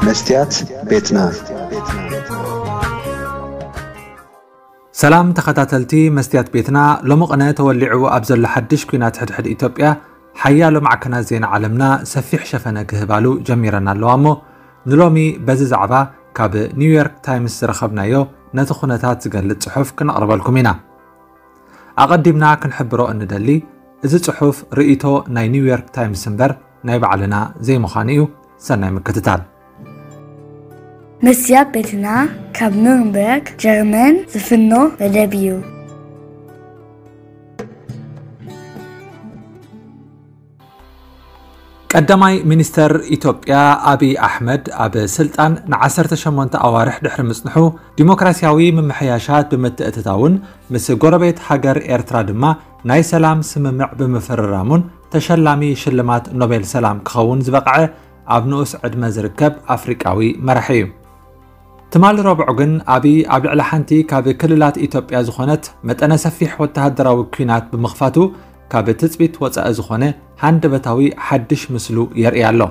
መስትያት ቤትና። ሰላም ተኸታተልቲ መስትያት ቤትና፣ ሎሚ ቅነ ተወሊዑ ኣብ ዘሎ ሓድሽ ኲናት ሕድሕድ ኢትዮጵያ ሓያሎ ማዕከናት ዜና ዓለምና ሰፊሕ ሸፈነ ክህባሉ ጀሚረን ኣለዋ። እሞ ንሎሚ በዚ ዛዕባ ካብ ኒውዮርክ ታይምስ ዝረኸብናዮ ነቲ ኩነታት ዝገልጽ ጽሑፍ ክነቕርበልኩም ኢና። ኣቐዲምና ክንሕብሮ እንደሊ፣ እዚ ጽሑፍ ርእይቶ ናይ ኒውዮርክ ታይምስ እምበር ናይ ባዕልና ዘይምዃኑ እዩ። ሰናይ ምክትታል። መስትያት ቤትና ካብ ኑርንበርግ ጀርመን ዝፍኖ መደብ እዩ። ቀዳማይ ሚኒስተር ኢትዮጵያ ኣብይ ኣሕመድ ኣብ ስልጣን ንዓሰርተ ሸሞንተ ኣዋርሕ ድሕሪ ምጽንሑ፣ ዲሞክራሲያዊ ምምሕያሻት ብምትእትታውን ምስ ጎረቤት ሃገር ኤርትራ ድማ ናይ ሰላም ስምምዕ ብምፍርራሙን ተሸላሚ ሽልማት ኖቤል ሰላም ክኸውን ዝበቕዐ ኣብ ንኡስ ዕድመ ዝርከብ ኣፍሪቃዊ መራሒ እዩ። ትማሊ ረቡዕ ግን ኣብይ ኣብ ልዕሊ ሓንቲ ካብ ክልላት ኢትዮጵያ ዝኾነት መጠነ ሰፊሕ ወተሃደራዊ ኲናት ብምኽፋቱ፣ ካብ ትጽቢት ወጻኢ ዝኾነ ሃንደበታዊ ሓድሽ ምስሉ የርኢ ኣሎ።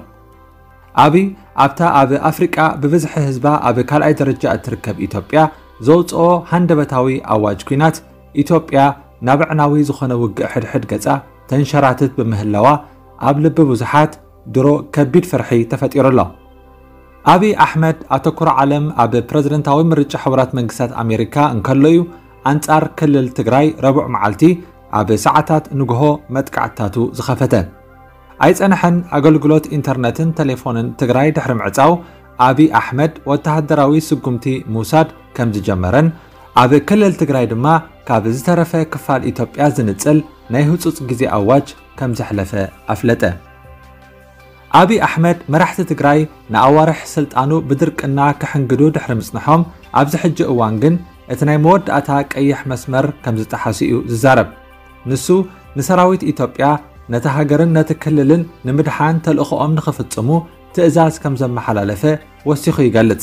ኣብይ ኣብታ ኣብ ኣፍሪቃ ብብዝሒ ህዝባ ኣብ ካልኣይ ደረጃ እትርከብ ኢትዮጵያ ዘውጽኦ ሃንደበታዊ ኣዋጅ ኲናት፣ ኢትዮጵያ ናብ ኣዕናዊ ዝኾነ ውግእ ሕድሕድ ገጻ ተንሸራትት ብምህላዋ፣ ኣብ ልቢ ብዙሓት ድሮ ከቢድ ፍርሒ ተፈጢሩ ኣሎ። ኣብይ ኣሕመድ ኣተኩሮ ዓለም ኣብ ፕረዚደንታዊ ምርጫ ሕቡራት መንግስታት ኣሜሪካ እንከሎ እዩ ኣንጻር ክልል ትግራይ ረቡዕ መዓልቲ ኣብ ሰዓታት ንግሆ መጥቃዕትታቱ ዝኸፈተ። ኣይጸንሐን፣ ኣገልግሎት ኢንተርነትን ቴሌፎንን ትግራይ ድሕሪ ምዕጻው፣ ኣብይ ኣሕመድ ወተሃደራዊ ስጉምቲ ምውሳድ ከም ዝጀመረን ኣብ ክልል ትግራይ ድማ ካብ ዝተረፈ ክፋል ኢትዮጵያ ዝንጽል ናይ ህጹጽ ግዜ ኣዋጅ ከም ዘሕለፈ ኣፍለጠ። ኣብይ ኣሕመድ መራሕቲ ትግራይ ንኣዋርሕ ስልጣኑ ብድርቅና ክሕንግዱ ድሕሪ ምጽንሖም፣ ኣብዚ ሕጂ እዋን ግን እቲ ናይ መወዳእታ ቀይሕ መስመር ከም ዝጠሓሱ እዩ ዝዛረብ። ንሱ ንሰራዊት ኢትዮጵያ ነቲ ሃገርን ነቲ ክልልን ንምድሓን ተልእኾኦም ንኽፍጽሙ ትእዛዝ ከም ዘመሓላለፈ ወሲኹ ይገልጽ።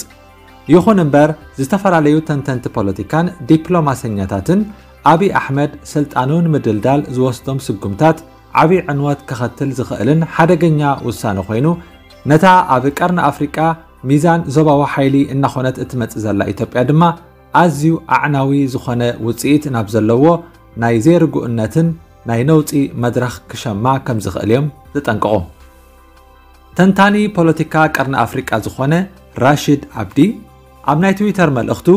ይኹን እምበር፣ ዝተፈላለዩ ተንተንቲ ፖለቲካን ዲፕሎማሰኛታትን ኣብይ ኣሕመድ ስልጣኑ ንምድልዳል ዝወስዶም ስጉምታት ዓብዪ ዕንወት ከኸትል ዝኽእልን ሓደገኛ ውሳነ ኮይኑ፣ ነታ ኣብ ቀርኒ ኣፍሪቃ ሚዛን ዞባዊ ሓይሊ እናኾነት እትመጽእ ዘላ ኢትዮጵያ ድማ ኣዝዩ ኣዕናዊ ዝኾነ ውጽኢት ናብ ዘለዎ ናይ ዘይርጉእነትን ናይ ነውጺ መድረኽ ክሸማ ከም ዝኽእል እዮም ዘጠንቅቑ። ተንታኒ ፖለቲካ ቀርኒ ኣፍሪቃ ዝኾነ ራሽድ ኣብዲ ኣብ ናይ ትዊተር መልእኽቱ፣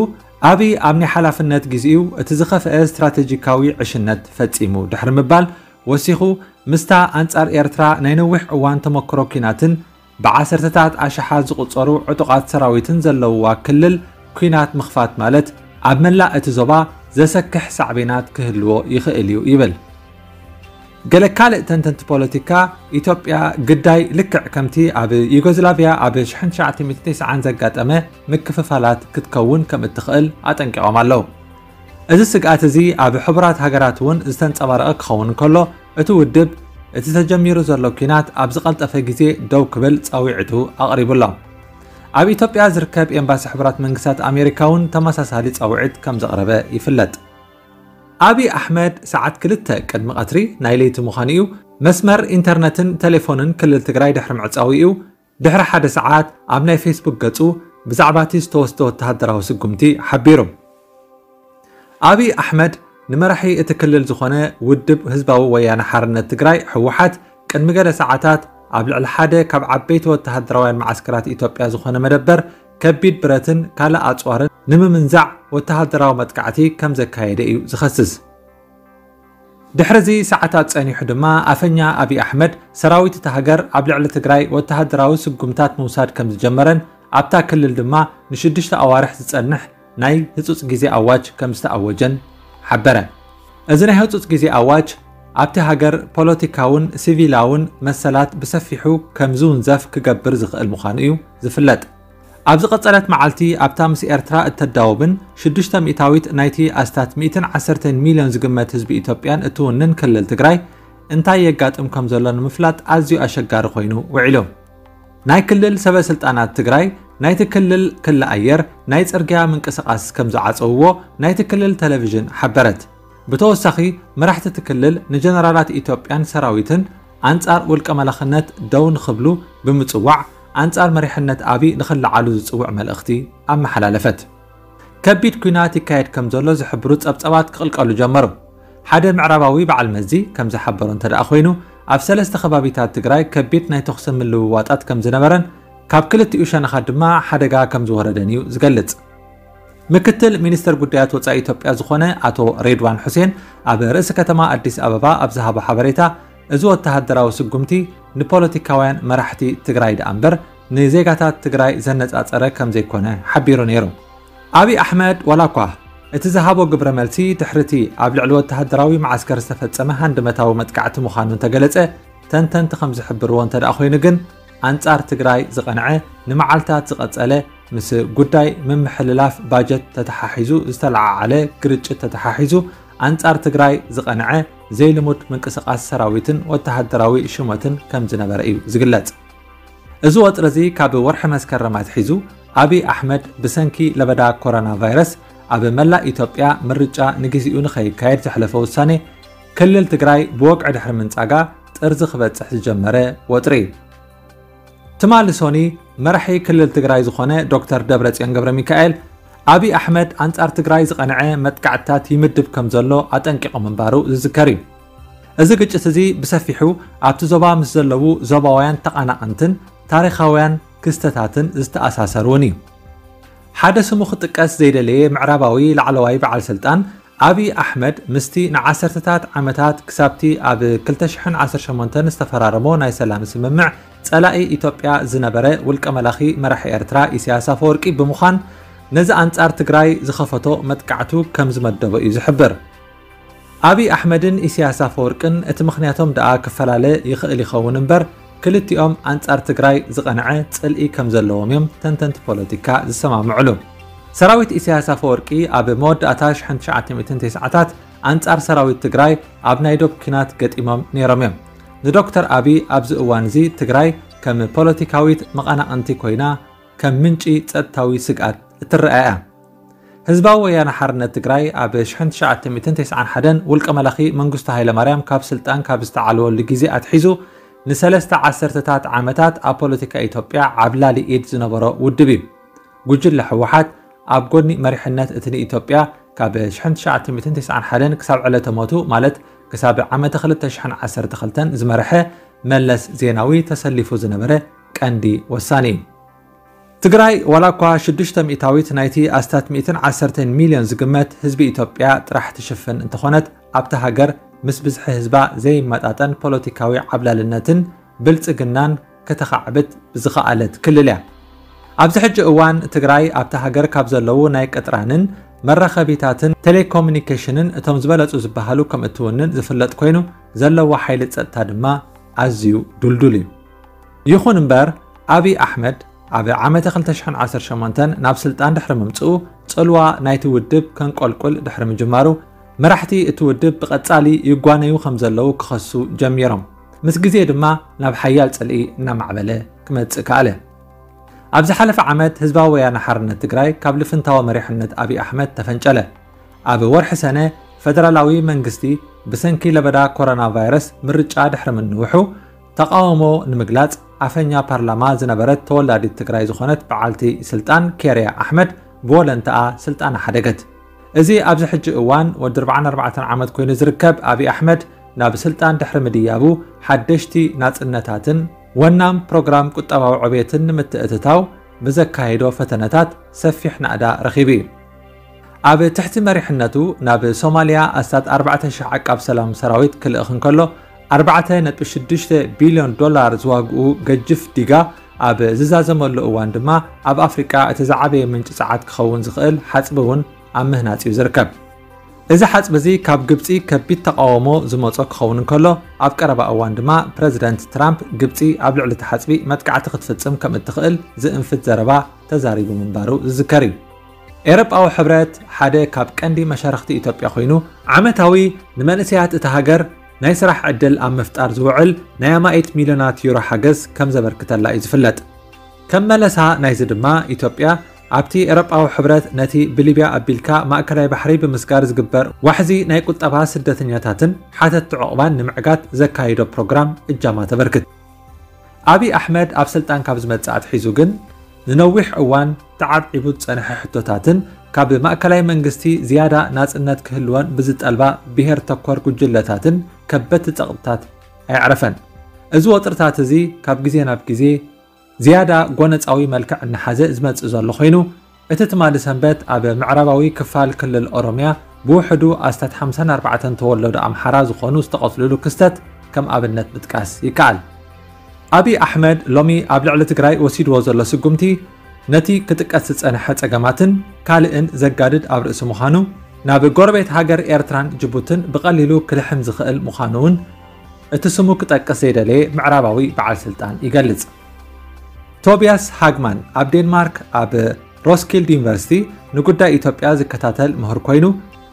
ኣብይ ኣብ ናይ ሓላፍነት ግዜኡ እቲ ዝኸፍአ ስትራቴጂካዊ ዕሽነት ፈጺሙ ድሕሪ ምባል ወሲኹ፣ ምስታ ኣንጻር ኤርትራ ናይ ነዊሕ እዋን ተመክሮ ኲናትን ብዓሰርተታት ኣሽሓት ዝቑጸሩ ዕጡቓት ሰራዊትን ዘለውዋ ክልል ኲናት ምኽፋት ማለት ኣብ መላእ እቲ ዞባ ዘሰክሕ ሳዕቤናት ክህልዎ ይኽእል እዩ ይብል። ገለ ካልእ ተንተንቲ ፖለቲካ፣ ኢትዮጵያ ግዳይ ልክዕ ከምቲ ኣብ ዩጎዝላቭያ ኣብ ሽሕን ትሽዓተ ሚእትን ተስዓን ዘጋጠመ ምክፍፋላት ክትከውን ከም እትኽእል ኣጠንቂቖም ኣለዉ። እዚ ስግኣት እዚ ኣብ ሕቡራት ሃገራት እውን ዝተንጸባረቐ ክኸውን እንከሎ፣ እቲ ውድብ እቲ ተጀሚሩ ዘሎ ኲናት ኣብ ዝቐልጠፈ ግዜ ደው ክብል ጻውዒቱ ኣቕሪቡ ኣሎ። ኣብ ኢትዮጵያ ዝርከብ ኤምባሲ ሕቡራት መንግስታት ኣሜሪካ እውን ተመሳሳሊ ጻውዒት ከም ዘቕረበ ይፍለጥ። ኣብይ ኣሕመድ ሰዓት ክልተ ቅድሚ ቀትሪ ናይ ለይቲ ምዃኑ እዩ፣ መስመር ኢንተርነትን ቴሌፎንን ክልል ትግራይ ድሕሪ ምዕጻው እዩ ድሕሪ ሓደ ሰዓት ኣብ ናይ ፌስቡክ ገጹ ብዛዕባ እቲ ዝተወስደ ወተሃደራዊ ስጉምቲ ሓቢሩ። ኣብይ ኣሕመድ ንመራሒ እቲ ክልል ዝኾነ ውድብ ህዝባዊ ወያነ ሓርነት ትግራይ፣ ህወሓት፣ ቅድሚ ገለ ሰዓታት ኣብ ልዕሊ ሓደ ካብ ዓበይቲ ወተሃደራውያን መዓስከራት ኢትዮጵያ ዝኾነ መደበር ከቢድ ብረትን ካልእ ኣጽዋርን ንምምንዛዕ ወተሃደራዊ መጥቃዕቲ ከም ዘካየደ እዩ ዝኸስስ። ድሕሪ እዚ ሰዓታት ጸኒሑ ድማ ኣፈኛ ኣብይ ኣሕመድ ሰራዊት እታ ሃገር ኣብ ልዕሊ ትግራይ ወተሃደራዊ ስጉምታት ምውሳድ ከም ዝጀመረን ኣብታ ክልል ድማ ንሽዱሽተ ኣዋርሕ ዝጸንሕ ናይ ህጹጽ ግዜ ኣዋጅ ከም ዝተኣወጀን ሓበረ። እዚ ናይ ህጹጽ ግዜ ኣዋጅ ኣብቲ ሃገር ፖለቲካውን ሲቪላውን መሰላት ብሰፊሑ ከም ዝውንዘፍ ክገብር ዝኽእል ምዃኑ እዩ ዝፍለጥ። ኣብ ዝቐጸለት መዓልቲ ኣብታ ምስ ኤርትራ እተዳውብን ሽዱሽተ ሚእታዊት ናይቲ ኣስታት ሚእትን ዓሰርተን ሚልዮን ዝግመት ህዝቢ ኢትዮጵያን እትውንን ክልል ትግራይ እንታይ የጋጥም ከም ዘሎ ንምፍላጥ ኣዝዩ ኣሸጋሪ ኮይኑ ውዒሉ። ናይ ክልል ሰበ ስልጣናት ትግራይ ናይቲ ክልል ክሊ ኣየር ናይ ጽርግያ ምንቅስቓስ ከም ዝዓጸውዎ ናይቲ ክልል ቴሌቪዥን ሓበረት። ብተወሳኺ መራሕቲ እቲ ክልል ንጀነራላት ኢትዮጵያን ሰራዊትን ኣንጻር ውልቀ መላኽነት ደው ንኽብሉ ብምጽዋዕ ኣንጻር መሪሕነት ኣብይ ንኽለዓሉ ዝጽውዕ መልእኽቲ ኣመሓላለፈት። ከቢድ ኲናት ይካየድ ከም ዘሎ ዝሕብሩ ጸብጸባት ክቕልቀሉ ጀመሩ። ሓደ ምዕራባዊ በዓል መዚ ከም ዝሓበሮ እንተ ደኣ ኮይኑ፣ ኣብ ሰለስተ ከባቢታት ትግራይ ከቢድ ናይ ተኹሲ ምልውዋጣት ከም ዝነበረን ካብ ክልቲኡ ሸነኻት ድማ ሓደጋ ከም ዝወረደን እዩ ዝገልጽ። ምክትል ሚኒስተር ጉዳያት ወጻኢ ኢትዮጵያ ዝኾነ ኣቶ ሬድዋን ሑሴን ኣብ ርእሲ ከተማ ኣዲስ ኣበባ ኣብ ዝሃቦ ሓበሬታ፣ እዚ ወተሃደራዊ ስጉምቲ ንፖለቲካውያን መራሕቲ ትግራይ ደኣ እምበር ንዜጋታት ትግራይ ዘነጻጸረ ከም ዘይኮነ ሓቢሩ ነይሩ። ኣብይ ኣሕመድ ዋላ እኳ እቲ ዝሃቦ ግብረ መልሲ ድሕሪቲ ኣብ ልዕሊ ወተሃደራዊ መዓስከር ዝተፈጸመ ሃንደበታዊ መጥቃዕቲ ምዃኑ እንተገለጸ፣ ተንተንቲ ከም ዝሕብርዎ እንተ ደኣ ኮይኑ ግን፣ ኣንጻር ትግራይ ዝቐንዐ ንመዓልታት ዝቐጸለ ምስ ጉዳይ ምምሕልላፍ ባጀት ተተሓሒዙ ዝተለዓዓለ ግርጭት ተተሓሒዙ ኣንጻር ትግራይ ዝቐንዐ ዘይልሙድ ምንቅስቓስ ሰራዊትን ወተሃደራዊ ሽመትን ከም ዝነበረ እዩ ዝግለጽ። እዚ ወጥሪ እዚ ካብ ወርሒ መስከረም ኣትሒዙ ኣብይ ኣሕመድ ብሰንኪ ለበዳ ኮሮና ቫይረስ ኣብ መላእ ኢትዮጵያ ምርጫ ንግዚኡ ንኸይካየድ ዘሕለፎ ውሳኔ ክልል ትግራይ ብወግዒ ድሕሪ ምንጻጋ ጥርዚ ክበጽሕ ዝጀመረ ወጥሪ እዩ። ትማሊ ሶኒ መራሒ ክልል ትግራይ ዝኾነ ዶክተር ደብረጽዮን ገብረ ሚካኤል ኣብይ ኣሕመድ ኣንጻር ትግራይ ዝቐንዐ መጥቃዕትታት ይምድብ ከም ዘሎ ኣጠንቂቑ ምንባሩ ዝዝከር እዩ። እዚ ግጭት እዚ ብሰፊሑ ኣብቲ ዞባ ምስ ዘለዉ ዞባውያን ተቓናቐንትን ታሪኻውያን ክስተታትን ዝተኣሳሰር እውን እዩ። ሓደ ስሙ ክጥቀስ ዘይደለየ ምዕራባዊ ላዕለዋይ በዓል ስልጣን ኣብይ ኣሕመድ ምስቲ ንዓሰርተታት ዓመታት ክሳብቲ ኣብ ክልተ ሽሕን ዓሰርተ ሸሞንተን ዝተፈራረሞ ናይ ሰላም ስምምዕ ጸላኢ ኢትዮጵያ ዝነበረ ውልቀ መላኺ መራሒ ኤርትራ ኢሳያስ ኣፈወርቂ ብምዃን ነዚ ኣንጻር ትግራይ ዝኸፈቶ መጥቃዕቱ ከም ዝመደቦ እዩ ዝሕብር። ኣብይ ኣሕመድን ኢሳያስ ኣፈወርቅን እቲ ምኽንያቶም ደኣ ክፈላለ ይኽእል ይኸውን እምበር፣ ክልቲኦም ኣንጻር ትግራይ ዝቐንዐ ጽልኢ ከም ዘለዎም እዮም ተንተንቲ ፖለቲካ ዝሰማምዕሉ። ሰራዊት ኢሳያስ ኣፈወርቂ ኣብ መወዳእታ ሽሕን ትሽዓተ ሚእትን ተስዓታት ኣንጻር ሰራዊት ትግራይ ኣብ ናይ ዶብ ኲናት ገጢሞም ነይሮም እዮም። ንዶክተር ኣብይ ኣብዚ እዋን እዚ ትግራይ ከም ፖለቲካዊት መቐናቕንቲ ኮይና ከም ምንጪ ጸጥታዊ ስግኣት እትረኣ እያ። ህዝባዊ ወያነ ሓርነት ትግራይ ኣብ ሽሕን ትሽዓተ ሚእትን ተስዓን ሓደን ውልቀ መላኺ መንግስቱ ሃይለማርያም ካብ ስልጣን ካብ ዝተዓልወሉ ግዜ ኣትሒዙ ንሰለስተ ዓሰርተታት ዓመታት ኣብ ፖለቲካ ኢትዮጵያ ዓብላሊ ኢድ ዝነበሮ ውድብ እዩ። ጉጅለ ህወሓት ኣብ ጎኒ መሪሕነት እቲ ንኢትዮጵያ ካብ ሽሕን ትሽዓተ ሚእትን ተስዓን ሓደን ክሳብ ዕለተ ሞቱ ማለት ክሳብ ዓመተ ክልተ ሽሕን ዓሰርተ ክልተን ዝመርሐ መለስ ዜናዊ ተሰሊፉ ዝነበረ ቀንዲ ወሳኒ እዩ። ትግራይ ዋላ እኳ ሽዱሽተ ሚእታዊት ናይቲ ኣስታት ሚእትን ዓሰርተን ሚልዮን ዝግመት ህዝቢ ኢትዮጵያ ጥራሕ ትሽፍን እንተኾነት፣ ኣብታ ሃገር ምስ ብዝሒ ህዝባ ዘይመጣጠን ፖለቲካዊ ዓብላልነትን ብልጽግናን ከተኻዕብት ዝኸኣለት ክልል እያ። ኣብዚ ሕጂ እዋን ትግራይ ኣብታ ሃገር ካብ ዘለዉ ናይ ቅጥራንን መራኸቢታትን ቴሌኮሙኒኬሽንን እቶም ዝበለጹ ዝበሃሉ ከም እትውንን ዝፍለጥ ኮይኑ፣ ዘለዋ ሓይሊ ጸጥታ ድማ ኣዝዩ ዱልዱል እዩ። ይኹን እምበር፣ ኣብይ ኣሕመድ ኣብ ዓመተ ክልተ ሽሕን ዓሰርተ ሸሞንተን ናብ ስልጣን ድሕሪ ምምጽኡ፣ ጽልዋ ናይቲ ውድብ ከንቆልቁል ድሕሪ ምጅማሩ፣ መራሕቲ እቲ ውድብ ብቐጻሊ ይጓነዩ ከም ዘለዉ ክኸሱ ጀሚሮም። ምስ ግዜ ድማ ናብ ሓያል ጽልኢ እናማዕበለ ክመጽእ ከኣለ። ኣብ ዝሓለፈ ዓመት ህዝባዊ ወያነ ሓርነት ትግራይ ካብ ልፍንታዊ መሪሕነት ኣብይ ኣሕመድ ተፈንጨለ። ኣብ ወርሒ ሰነ ፈደራላዊ መንግስቲ ብሰንኪ ለበዳ ኮሮና ቫይረስ ምርጫ ድሕሪ ምንውሑ፣ ተቓውሞ ንምግላጽ ኣፈኛ ፓርላማ ዝነበረት ተወላዲት ትግራይ ዝኾነት በዓልቲ ስልጣን ኬርያ ኣሕመድ ብወለንተኣ ስልጣና ሓደገት። እዚ ኣብዚ ሕጂ እዋን ወዲ ኣርብዓን ኣርባዕተን ዓመት ኮይኑ ዝርከብ ኣብይ ኣሕመድ ናብ ስልጣን ድሕሪ ምድያቡ ሓደሽቲ ናጽነታትን ወናም ፕሮግራም ቁጠባዊ ዕብየትን ንምትእትታው ብዘካየዶ ፈተነታት ሰፊሕ ናእዳ ረኺቡ እዩ። ኣብ ትሕቲ መሪሕነቱ ናብ ሶማልያ ኣስታት ኣርባዕተ ሽሕ ዓቃብ ሰላም ሰራዊት ክልእኽ እንከሎ፣ ኣርባዕተ ነጥቢ ሽዱሽተ ቢልዮን ዶላር ዝዋግኡ ገጅፍ ዲጋ ኣብ ዝዛዘመሉ እዋን ድማ ኣብ ኣፍሪቃ እቲ ዝዓበየ ምንጪ ጸዓት ክኸውን ዝኽእል ሓጽቢ እውን ኣብ ምህናጽ እዩ ዝርከብ። እዚ ሓጽቢ እዚ ካብ ግብጺ ከቢድ ተቓውሞ ዝመጾ ክኸውን እንከሎ፣ ኣብ ቀረባ እዋን ድማ ፕረዚደንት ትራምፕ ግብጺ ኣብ ልዕሊ እቲ ሓጽቢ መጥቃዕቲ ክትፍጽም ከም እትኽእል ዝእንፍት ዘረባ ተዛሪቡ ምንባሩ ዝዝከር እዩ። ኤውሮጳዊ ሕብረት ሓደ ካብ ቀንዲ መሻርኽቲ ኢትዮጵያ ኮይኑ፣ ዓመታዊ ንመንእሰያት እታ ሃገር ናይ ስራሕ ዕድል ኣብ ምፍጣር ዝውዕል ናይ ኣማኢት ሚልዮናት ዩሮ ሓገዝ ከም ዘበርክተላ እዩ ዝፍለጥ። ከም መለሳ ናይዚ ድማ፣ ኢትዮጵያ ኣብቲ ኤውሮጳዊ ሕብረት ነቲ ብሊብያ ኣቢልካ ማእከላይ ባሕሪ ብምስጋር ዝግበር ዋሕዚ ናይ ቁጠባ ስደተኛታትን ሓተትቲ ዑቕባን ንምዕጋት ዘካይዶ ፕሮግራም እጃማ ተበርክት። ኣብይ ኣሕመድ ኣብ ስልጣን ካብ ዝመጽእ ኣትሒዙ ግን ንነዊሕ እዋን ተዓብዒቡ ዝጸንሐ ሕቶታትን ካብ ማእከላይ መንግስቲ ዝያዳ ናጽነት ክህልወን ብዝጠልባ ብሄር ተኮር ጉጅለታትን ከበድቲ ጸቕጥታት ኣየዕረፈን። እዚ ወጥርታት እዚ ካብ ግዜ ናብ ግዜ ዝያዳ ጎነጻዊ መልክዕ እናሓዘ ዝመጽእ ዘሎ ኮይኑ፣ እቲ ትማሊ ሰንበት ኣብ ምዕራባዊ ክፋል ክልል ኦሮምያ ብውሕዱ ኣስታት ሓምሳን ኣርባዕተን ተወለዶ ኣምሓራ ዝኾኑ ዝተቐትልሉ ክስተት ከም ኣብነት ምጥቃስ ይከኣል። ኣብይ ኣሕመድ ሎሚ ኣብ ልዕሊ ትግራይ ወሲድዎ ዘሎ ስጉምቲ ነቲ ክጥቀስ ዝጸንሐ ጸገማትን ካልእን ዘጋድድ ኣብ ርእሲ ምዃኑ፣ ናብ ጎረቤት ሃገር ኤርትራን ጅቡትን ብቐሊሉ ክልሕም ዝኽእል ምዃኑ እውን እቲ ስሙ ክጠቅስ ዘይደለየ ምዕራባዊ በዓል ስልጣን ይገልጽ። ቶቢያስ ሃግማን ኣብ ዴንማርክ ኣብ ሮስኪልድ ዩኒቨርሲቲ ንጉዳይ ኢትዮጵያ ዝከታተል ምሁር ኮይኑ፣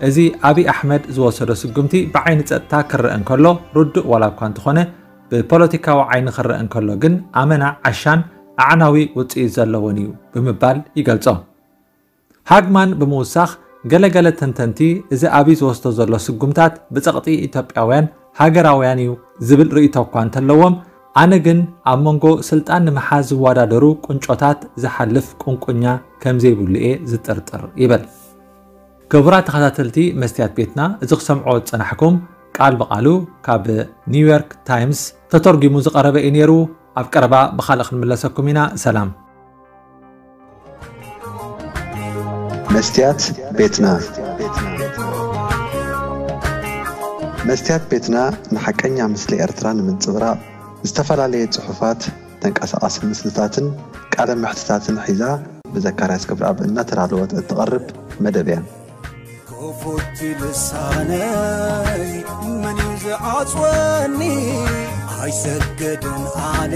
እዚ ኣብይ ኣሕመድ ዝወሰዶ ስጉምቲ ብዓይኒ ጸጥታ ክረአ እንከሎ ርዱእ ዋላ እኳ እንተኾነ፣ ብፖለቲካዊ ዓይኒ ክረአ እንከሎ ግን ኣመና ዓሻን ኣዕናዊ ውጽኢት ዘለዎን እዩ ብምባል ይገልጾ። ሃግማን ብምውሳኽ፣ ገለገለ ተንተንቲ እዚ ኣብይ ዝወስዶ ዘሎ ስጉምታት ብጸቕጢ ኢትዮጵያውያን ሃገራውያን እዩ ዝብል ርእይቶ እኳ እንተለዎም፣ ኣነ ግን ኣብ መንጎ ስልጣን ንምሓዝ ዝወዳደሩ ቁንጮታት ዝሓልፍ ቁንቁኛ ከምዘይብሉ እየ ዝጥርጥር ይብል። ክቡራት ተኸታተልቲ መስትያት ቤትና፣ እዚ ክሰምዖ ዝጸናሕኩም ቃል ብቓሉ ካብ ኒውዮርክ ታይምስ ተተርጒሙ ዝቐረበ እዩ ነይሩ። ኣብ ቀረባ ብኻልእ ክንምለሰኩም ኢና። ሰላም። መስትያት ቤትና። መስትያት ቤትና ንሓቀኛ ምስሊ ኤርትራ ንምንጽብራቕ ዝተፈላለየ ጽሑፋት፣ ተንቀሳቓሲ ምስልታትን ቃለ መሕትታትን ሒዛ ብዘካርያስ ገብረኣብ እናተዳለወት እትቐርብ መደብ እያ። ክፉት ልሳነይ መን እዩ ዝዓጽወኒ? ኣይሰግድን ኣነ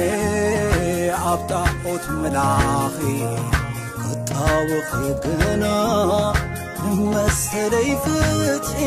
ኣብ ጣዖት ምላኺ፣ ክጣወኺ ግና መሰለይ ፍትሒ።